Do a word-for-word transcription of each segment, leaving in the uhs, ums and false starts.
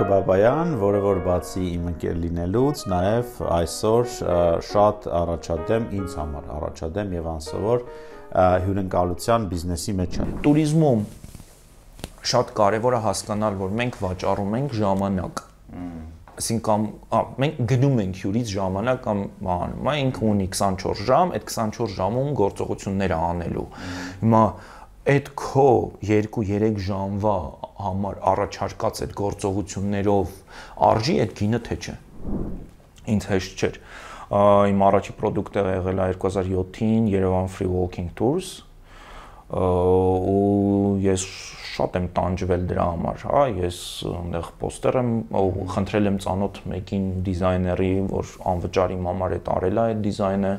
Արաքը Բաբայան, որը որ բացի իմ ընկեր լինելուց, նաև այսօր շատ առաջադեմ ինձ համար, առաջադեմ եւ անսովոր հյուրընկալության բիզնեսի մեջ է։ Տուրիզմում շատ կարևոր է հասկանալ, որ մենք վաճառում ենք ժամանակ։ Այսինքն մենք գնում ենք հյուրից ժամանակ կամ անում, ինքը ունի քսանչորս ժամ, այդ քսանչորս ժամում գործողություններ անելու։ Հիմա այդ քո երկու-երեք ժամվա համար առաջարկած այդ գործողություններով արժի այդ գինը թե չէ։ Ինձ հեշտ չէր։ Իմ առաջի պրոդուկտը եղել է երկու հազար յոթին Yerevan Free Walking Tours ու ես շատ եմ տանջվել դրա համար, հա, ես այնտեղ պոստեր եմ խնդրել եմ ծանոթ մեկին դիզայների, որ անվճար իմ համար է տարել այդ դիզայնը,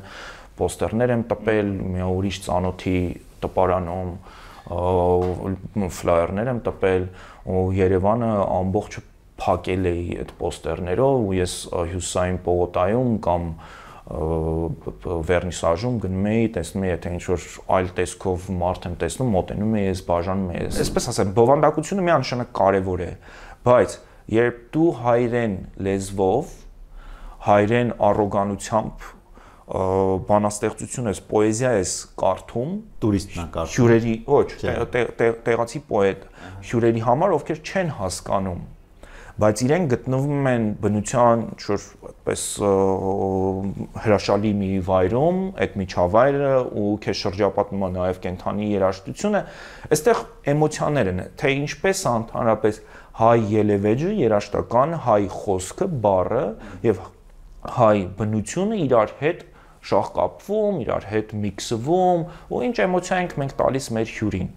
պոստերներ եմ տպել, մի ուրիշ ծանոթի տպարանում ֆլայերներ եմ տպել ու Երևանը ամբողջը փակել էի այդ պոստերներով ու ես հյուսային պողոտայում կամ վերնիսաժում գնում էի, տեսնում էի, եթե ինչ-որ այլ տեսքով մարդ եմ տեսնում, մոտենում էի, ես բաժանում էի։ Այսպես ասեմ, բովանդակությունը միանշանակ կարևոր է, բայց երբ դու հայրեն լեզվով, հայրեն առոգանությամբ բանաստեղծություն ես, պոեզիա ես կարդում, տուրիստն է կարդում, հյուրերի, ոչ, տեղացի պոետ, հյուրերի համար, ովքեր չեն հասկանում, բայց իրենք գտնվում են բնության այդպես հրաշալի մի վայրում, այդ միջավայրը ու քեզ շրջապատում է նաև կենդանի երաժշտությունը, այստեղ էմոցիաներ են, թե ինչպես է ընդհանրապես հայ ելևէջը, երաժշտական հայ խոսքը, բառը եւ հայ բնությունը իրար հետ շահկապվում, իրար հետ միքսվում ու ինչ էմոցիա ենք մենք տալիս մեր հյուրին։